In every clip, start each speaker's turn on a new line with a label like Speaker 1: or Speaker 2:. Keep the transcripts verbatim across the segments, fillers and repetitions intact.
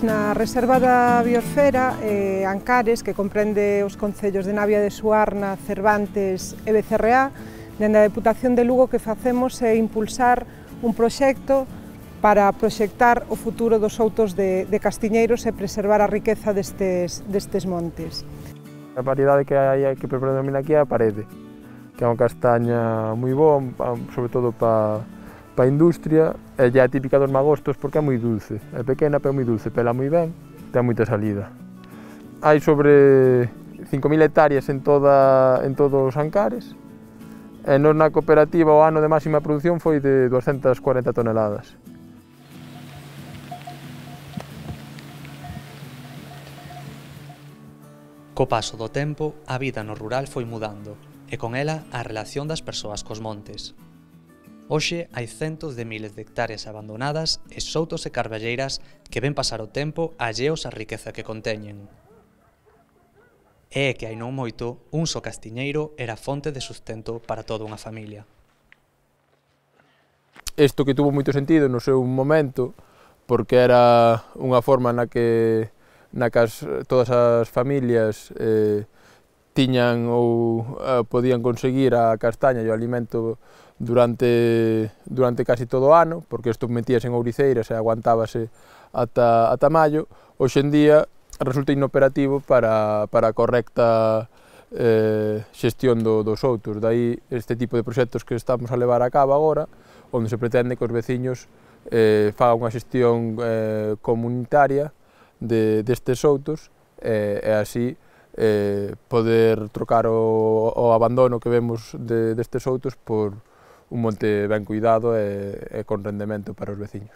Speaker 1: Na Reserva da Biosfera, eh, Ancares, que comprende os concellos de Navia de Suarna, Cervantes e Becerreá, dende a Deputación de Lugo que facemos é impulsar un proxecto para proxectar o futuro dos outos de, de Castiñeiros e preservar a riqueza destes, destes montes.
Speaker 2: A variedade que hai que predomina aquí é a parede, que é unha castaña moi boa, sobre todo para para a industria, e é típica dos magostos porque é moi dulce, é pequena pero moi dulce, pela moi ben, ten moita salida. Hai sobre cinco mil hectáreas en, toda, en todos os Ancares, e nos na cooperativa o ano de máxima produción foi de doscientas cuarenta toneladas.
Speaker 3: Co paso do tempo, a vida no rural foi mudando, e con ela a relación das persoas cos montes. Hoxe hai centos de miles de hectáreas abandonadas e soutos e carballeiras que ven pasar o tempo alleos á riqueza que conteñen. E é que hai non moito, un só castiñeiro era fonte de sustento para toda unha familia.
Speaker 2: Isto que tuvo moito sentido no seu momento, porque era unha forma na que, na que as, todas as familias eh, tiñan ou eh, podían conseguir a castaña e o alimento durante, durante casi todo o ano, porque isto metíase en ouriceiras e aguantábase ata, ata maio. Hoxe en día resulta inoperativo para, para a correcta eh, xestión do, dos outos. Daí este tipo de proxectos que estamos a levar a cabo agora, onde se pretende que os veciños eh, fagan unha xestión eh, comunitaria de, destes outos eh, e así eh, poder trocar o, o abandono que vemos de, destes outos por un monte ben cuidado e, e con rendemento para os veciños.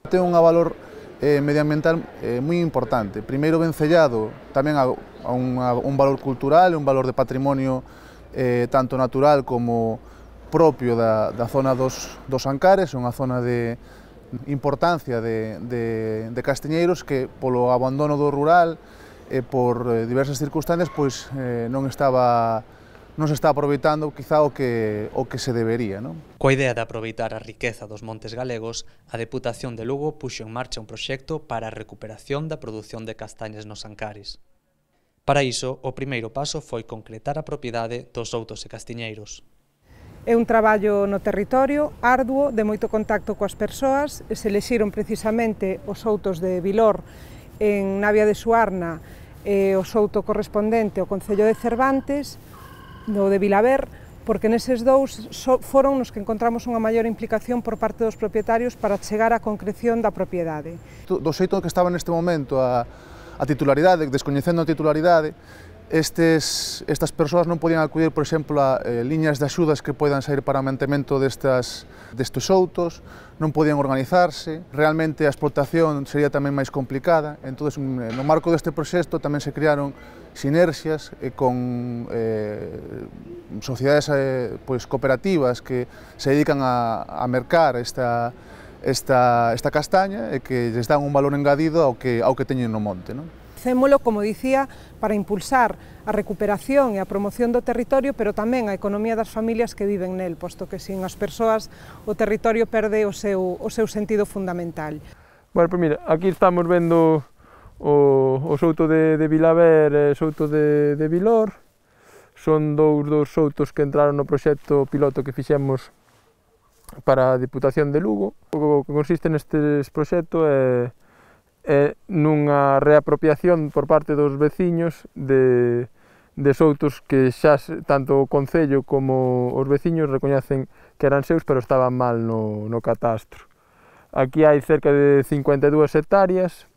Speaker 4: Ten un valor eh, medioambiental eh, moi importante. Primeiro vencellado tamén a, a, un, a un valor cultural, un valor de patrimonio eh, tanto natural como propio da, da zona dos, dos Ancares, unha zona de importancia de, de, de Castiñeiros que polo abandono do rural e por eh, diversas circunstancias pois, eh, non estaba non se está aproveitando quizá o que, o que se debería. Non?
Speaker 3: Coa idea de aproveitar a riqueza dos montes galegos, a Deputación de Lugo puxo en marcha un proxecto para a recuperación da produción de castañas nos Ancares. Para iso, o primeiro paso foi concretar a propiedade dos outos e castiñeiros.
Speaker 1: É un traballo no territorio, arduo, de moito contacto coas persoas, e se elixiron precisamente os outos de Vilor en Navia de Suarna e o souto correspondente ao Concello de Cervantes, no de Vilaver, porque neses dous foron nos que encontramos unha maior implicación por parte dos propietarios para chegar á concreción da propiedade.
Speaker 4: Do xeito que estaba neste momento a, a titularidade, descoñecendo a titularidade, estes, estas persoas non podían acudir, por exemplo, a eh, liñas de axudas que poidan sair para o mantemento destas, destes outos, non podían organizarse, realmente a explotación sería tamén máis complicada, entón, no marco deste proxecto tamén se crearon sinerxias eh, con eh, sociedades eh, pues, cooperativas que se dedican a, a mercar esta, esta, esta castaña e que les dan un valor engadido ao que, ao que teñen no monte. Non?
Speaker 1: Facémolo, como dicía, para impulsar a recuperación e a promoción do territorio, pero tamén a economía das familias que viven nel, posto que sin as persoas o territorio perde o seu, o seu sentido fundamental.
Speaker 2: Bueno, pues mira, aquí estamos vendo o, o souto de, de Vilaver e o souto de, de Vilor. Son dous dos soutos que entraron no proxecto piloto que fixemos para a Deputación de Lugo. O que consiste nestes proxectos é, é nunha reapropiación por parte dos veciños de, de soutos que xa tanto o Concello como os veciños recoñecen que eran seus, pero estaban mal no, no catastro. Aquí hai cerca de cincuenta e dúas hectáreas,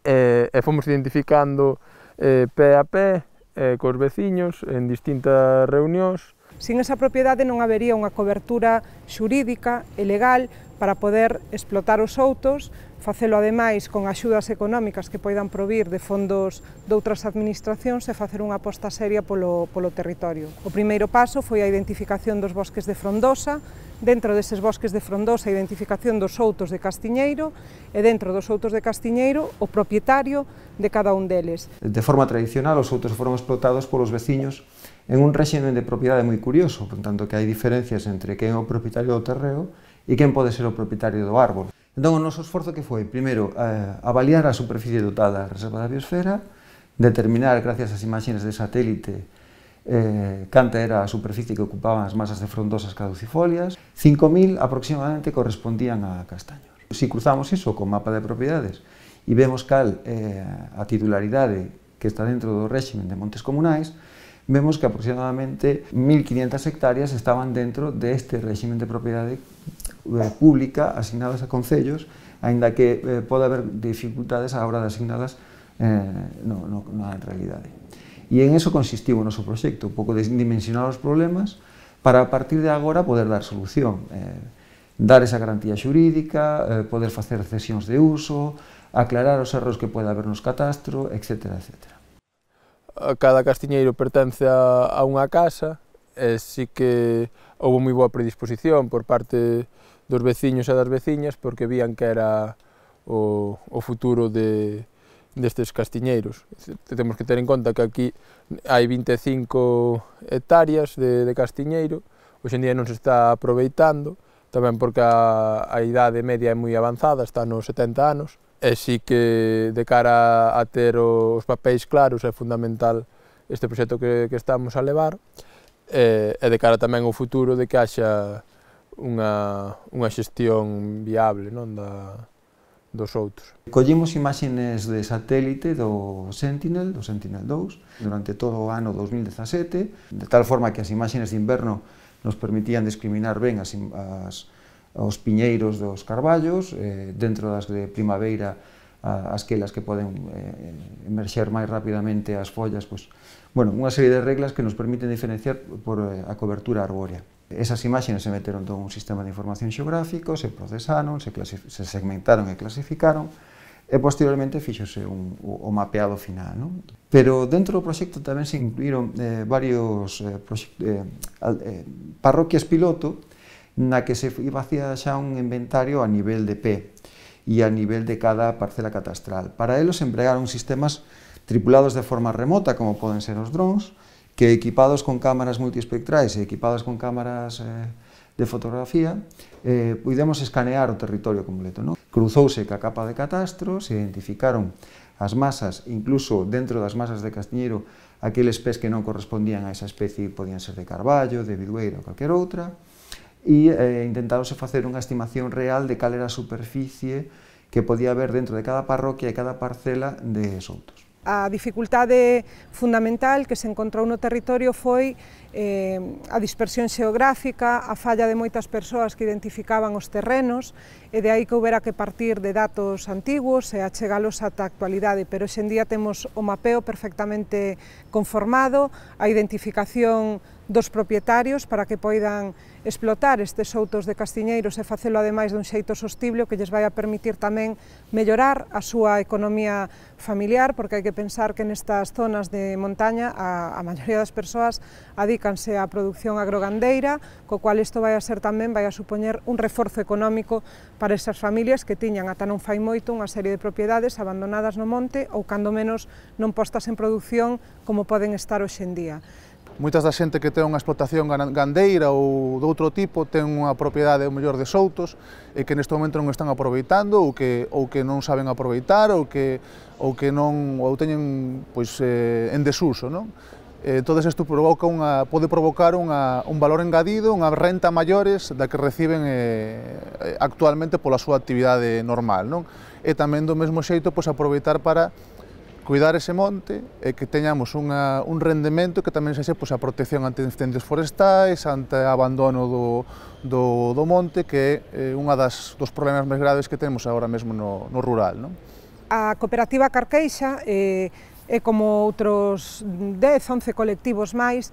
Speaker 2: e, e fomos identificando eh, pé a pé eh, cos veciños en distintas reunións.
Speaker 1: Sin esa propiedade non habería unha cobertura xurídica e legal para poder explotar os outos, facelo ademais con axudas económicas que poidan provir de fondos de outras administracións e facer unha aposta seria polo, polo territorio. O primeiro paso foi a identificación dos bosques de frondosa, dentro deses bosques de frondosa a identificación dos outos de Castiñeiro e dentro dos outos de Castiñeiro o propietario de cada un deles.
Speaker 5: De forma tradicional os outos foron explotados polos veciños en un réxime de propiedade moi curioso, por tanto que hai diferencias entre quen é o propietario do terreo e quen pode ser o propietario do árbol. Entón, o noso esforzo que foi, primeiro, eh, avaliar a superficie total da Reserva da Biosfera, determinar, gracias ás imaxes de satélite, eh, canta era a superficie que ocupaban as masas de frondosas caducifolias, cinco mil aproximadamente correspondían a castaños. Se cruzamos iso con mapa de propiedades e vemos cal eh, a titularidade que está dentro do réximen de montes comunais, vemos que aproximadamente mil quinientas hectáreas estaban dentro deste réximen de propiedade eh, pública asignadas a concellos, aínda que eh, pode haber dificultades á hora de asignadas eh, no, no, na realidade. E en eso consistiu o noso proxecto, un pouco de dimensionar os problemas para a partir de agora poder dar solución, eh, dar esa garantía xurídica, eh, poder facer cesións de uso, aclarar os erros que pode haber nos catastro, etcétera, etcétera.
Speaker 2: Cada castiñeiro pertence a, a unha casa e sí que houve moi boa predisposición por parte dos veciños e das veciñas porque vían que era o, o futuro de destes castiñeiros. Temos que ter en conta que aquí hai vinte e cinco hectáreas de, de castiñeiro, hoxe en día non se está aproveitando, tamén porque a, a idade media é moi avanzada, está nos setenta anos, e sí que de cara a ter os papéis claros é fundamental este proxecto que, que estamos a levar, e, e de cara tamén ao futuro de que haxa unha, unha xestión viable, non, da, dos outros.
Speaker 5: Collimos imaxes de satélite do Sentinel, do Sentinel dous, durante todo o ano dos mil dezasete, de tal forma que as imaxes de inverno nos permitían discriminar ben as, as, os piñeiros dos carballos, eh, dentro das de primavera, as quelas que poden eh, emerxer máis rapidamente as follas, pues, bueno, unha serie de reglas que nos permiten diferenciar por eh, a cobertura arbórea. Esas imaxes se meteron todo un sistema de información xeográfico, se procesaron, se, se segmentaron e clasificaron, e posteriormente fíxose un, o mapeado final. Non? Pero dentro do proxecto tamén se incluíron eh, varios eh, eh, eh, parroquias piloto na que se facía xa un inventario a nivel de P e a nivel de cada parcela catastral. Para elos empregaron sistemas tripulados de forma remota, como poden ser os drones, que equipados con cámaras multiespectrais e equipados con cámaras eh, de fotografía, eh, pudemos escanear o territorio completo. Non? Cruzouse ca capa de catastro, se identificaron as masas, incluso dentro das masas de castiñeiro, aqueles pés que non correspondían a esa especie, podían ser de carballo, de bidueira ou calquer outra, e eh, intentáronse facer unha estimación real de cal era a superficie que podía haber dentro de cada parroquia e cada parcela de soutos.
Speaker 1: A dificultade fundamental que se encontrou no territorio foi eh, a dispersión xeográfica, a falla de moitas persoas que identificaban os terrenos, e de aí que houbera que partir de datos antigos e achegalos ata a actualidade, pero hoxe en día temos o mapeo perfectamente conformado, a identificación dos propietarios para que poidan explotar estes outos de castiñeiros e facelo ademais dun xeito sostible, que lles vai a permitir tamén mellorar a súa economía familiar, porque hai que pensar que nestas zonas de montaña a, a maioría das persoas adícanse á produción agrogandeira, co cual isto vai a ser tamén, vai a supoñer un reforzo económico para esas familias que tiñan ata non fai moito unha serie de propiedades abandonadas no monte ou cando menos non postas en produción como poden estar hoxe en día.
Speaker 4: Moitas da xente que ten unha explotación gandeira ou de outro tipo ten unha propiedade ou mellor de soutos e que neste momento non están aproveitando ou que, ou que non saben aproveitar ou que, ou que non ou teñen pois, eh, en desuso. Non? Eh, todo isto provoca unha, pode provocar unha, un valor engadido, unha renta maiores da que reciben eh, actualmente pola súa actividade normal. Non? E tamén do mesmo xeito pois, aproveitar para cuidar ese monte e que teñamos unha, un rendemento que tamén sexa pois, a protección ante incendios forestais, ante o abandono do, do, do monte, que é eh, unha das, dos problemas máis graves que temos agora mesmo no, no rural. Non?
Speaker 1: A cooperativa Carqueixa eh, é como outros dez, once colectivos máis,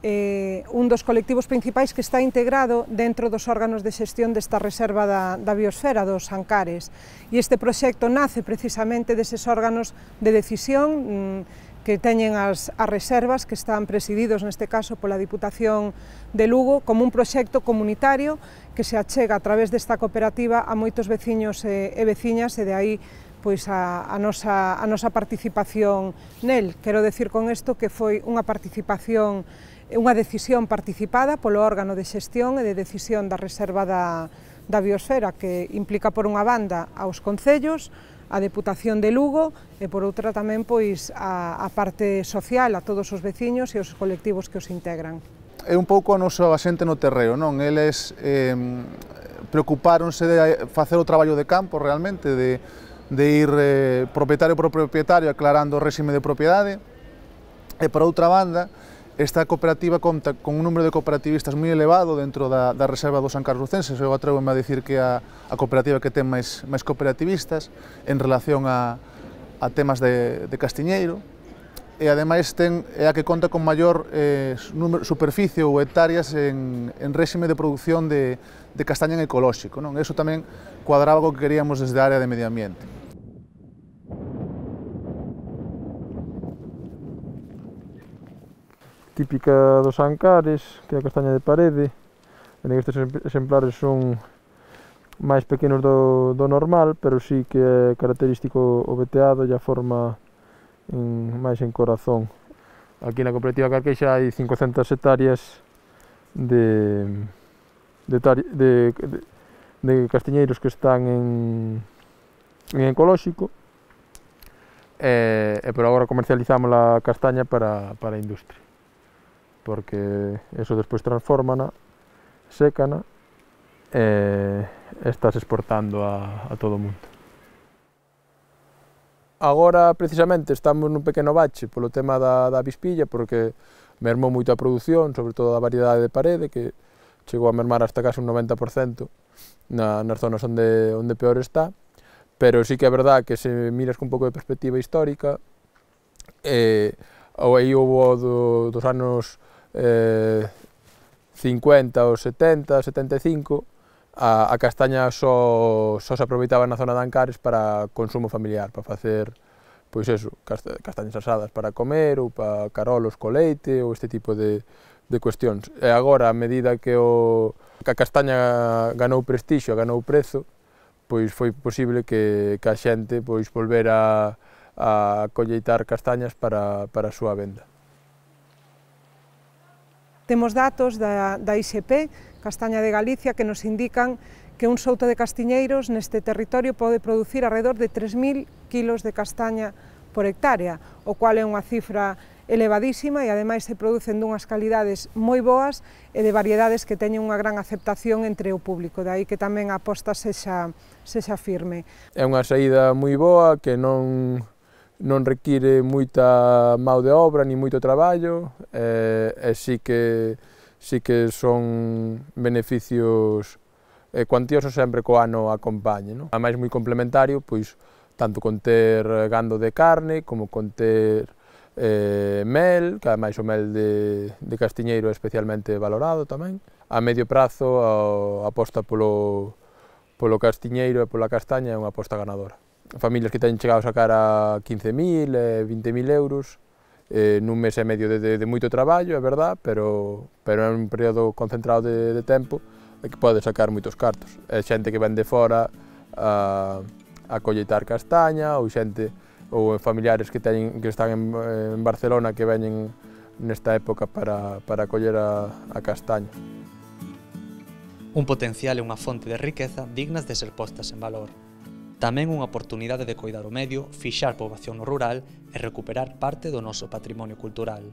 Speaker 1: eh, un dos colectivos principais que está integrado dentro dos órganos de xestión desta reserva da, da biosfera, dos Ancares. E este proxecto nace precisamente deses órganos de decisión mmm, que teñen as, as reservas, que están presididos neste caso pola Diputación de Lugo, como un proxecto comunitario que se achega a través desta cooperativa a moitos veciños e, e veciñas, e de aí pois a, a, nosa, a nosa participación nel. Quero decir con isto que foi unha participación, unha decisión participada polo órgano de xestión e de decisión da reserva da, da biosfera, que implica por unha banda aos concellos, a Deputación de Lugo e por outra tamén pois a, a parte social, a todos os veciños e os colectivos que os integran.
Speaker 4: É un pouco a nosa xente no terreo, non? Eles eh, preocupáronse de facer o traballo de campo realmente, de, de ir eh, propietario por propietario aclarando o réxime de propiedade, e por outra banda, esta cooperativa conta con un número de cooperativistas moi elevado dentro da, da reserva do San Carlos Lucense. Eu atrevo-me a dicir que é a, a cooperativa que ten máis, máis cooperativistas en relación a, a temas de, de castiñeiro, e ademais ten, é a que conta con maior eh, número, superficie ou hectáreas en, en réxime de produción de, de castaña en ecolóxico, non? Eso tamén cuadraba co que queríamos desde a área de medio ambiente.
Speaker 2: Típica dos Ancares, que é a castaña de parede. Estes exemplares son máis pequenos do, do normal, pero sí que é característico o veteado e a forma en, máis en corazón. Aquí na cooperativa Carqueixa hai cincocentas hectáreas de, de, de, de, de castiñeiros que están en, en ecolóxico, e, e por agora comercializamos a castaña para, para a industria, porque eso despois transfórmana, sécana e estás exportando a, a todo o mundo. Agora, precisamente, estamos nun pequeno bache polo tema da, da avispilla, porque mermou moito a produción, sobre todo a variedade de parede, que chegou a mermar hasta case un noventa por cento na, nas zonas onde, onde peor está, pero sí que é verdad que se miras con un pouco de perspectiva histórica, eh, ou aí houve do, dos anos eh, cincuenta ou setenta, setenta e cinco, a, a castaña só, só se aproveitaba na zona de Ancares para consumo familiar, para facer, pois eso, castañas asadas para comer, ou para carolos co leite, ou este tipo de, de cuestións. E agora, a medida que, o, que a castaña ganou prestixio, ganou prezo, pois foi posible que, que a xente pois volvera a colleitar castañas para, para a súa venda.
Speaker 1: Temos datos da, da I S P, Castaña de Galicia, que nos indican que un souto de castiñeiros neste territorio pode producir alrededor de tres mil kilos de castaña por hectárea, o cual é unha cifra elevadísima e ademais se producen dunhas calidades moi boas e de variedades que teñen unha gran aceptación entre o público, dai que tamén a aposta sexa, sexa firme.
Speaker 2: É unha saída moi boa que non non require moita mão de obra ni moito traballo, e, e sí que sí que son beneficios eh, cuantiosos sempre co ano acompañe, non? A máis moi complementario, pois tanto con ter gando de carne como con ter eh, mel, que ademais o mel de, de castiñeiro é especialmente valorado tamén. A medio prazo a, a aposta polo, polo castiñeiro e pola castaña é unha aposta ganadora. Familias que teñen chegado a sacar a quince mil, vinte mil euros, eh, nun mes e medio de, de, de moito traballo, é verdad, pero, pero é un período concentrado de, de tempo e que pode sacar moitos cartos. É xente que ven de fora a, a colleitar castaña, ou xente, ou familiares que, teñen, que están en, en Barcelona que veñen nesta época para, para coller a, a castaña.
Speaker 3: Un potencial e unha fonte de riqueza dignas de ser postas en valor. Tamén unha oportunidade de coidar o medio, fixar poboación no rural e recuperar parte do noso patrimonio cultural.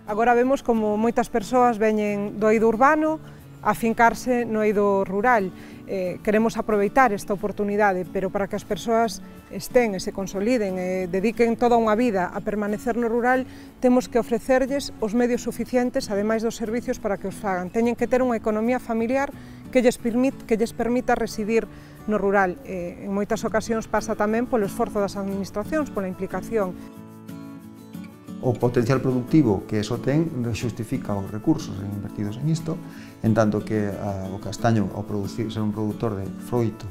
Speaker 1: Agora vemos como moitas persoas veñen do eido urbano a fincarse no eido rural. Eh, queremos aproveitar esta oportunidade, pero para que as persoas estén e se consoliden e dediquen toda unha vida a permanecer no rural, temos que ofrecerlles os medios suficientes, ademais dos servicios, para que os fagan. Teñen que ter unha economía familiar que lles, permit, que lles permita residir no rural. Eh, en moitas ocasións pasa tamén polo esforzo das administracións, pola implicación.
Speaker 5: O potencial productivo que eso ten xustifica os recursos invertidos en isto, en tanto que a, o castaño, ao producir, ser un produtor de froito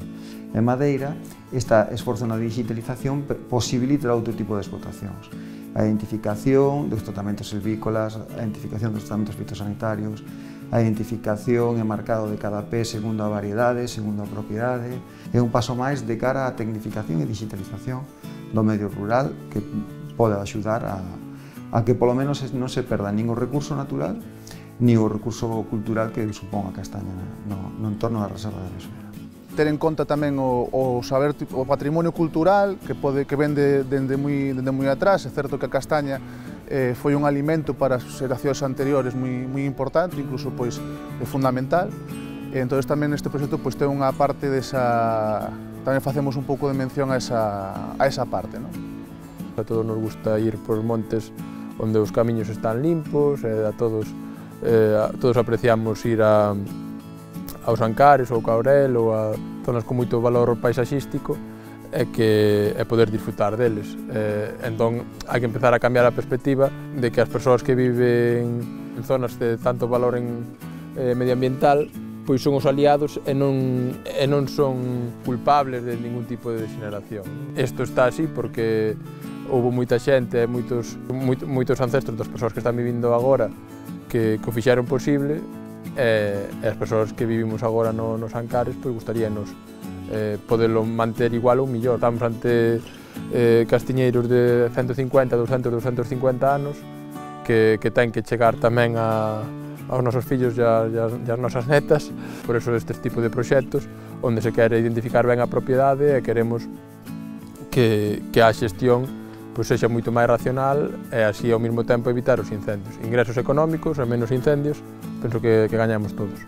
Speaker 5: e madeira, este esforzo na digitalización posibilita outro tipo de explotacións. A identificación dos tratamentos silvícolas, a identificación dos tratamentos fitosanitarios, a identificación e marcado de cada pé segundo a variedade, segundo a propiedade. É un paso máis de cara á tecnificación e digitalización do medio rural que pode axudar a a que polo menos non se perda nin o recurso natural ni o recurso cultural que supón a castaña no, no entorno da Reserva da Mesura.
Speaker 4: Ter en conta tamén o, o saber, o patrimonio cultural que pode que vende dende moi dende moi atrás. É certo que a castaña eh, foi un alimento para as xeracións anteriores moi moi importante, incluso pois é fundamental. E entonces tamén neste proxecto pois ten unha parte desa, tamén facemos un pouco de mención a esa a esa parte, non?
Speaker 2: A todos nos gusta ir por montes onde os camiños están limpos, e a todos eh, a todos apreciamos ir a aos Ancares ou Caurel ou a zonas con moito valor paisaxístico e que é poder disfrutar deles. Eh, entón, hai que empezar a cambiar a perspectiva de que as persoas que viven en zonas de tanto valor en, eh, medioambiental pois son os aliados e non, e non son culpables de ningún tipo de degeneración. Isto está así porque houve moita xente e moitos, moitos, moitos ancestros das persoas que están vivindo agora que, que o fixeron posible. E, e as persoas que vivimos agora no, nos Ancares pois gustaríanos eh, poderlo manter igual ou millor. Estamos ante eh, castiñeiros de ciento cincuenta, doscientos, doscientos cincuenta anos que, que ten que chegar tamén a, aos nosos fillos e, a, e, as, e as nosas netas. Por eso estes tipos de proxectos onde se quere identificar ben a propiedade e queremos que, que a xestión pois sexa moito máis racional e así ao mesmo tempo evitar os incendios. Ingresos económicos e menos incendios, penso que, que gañamos todos.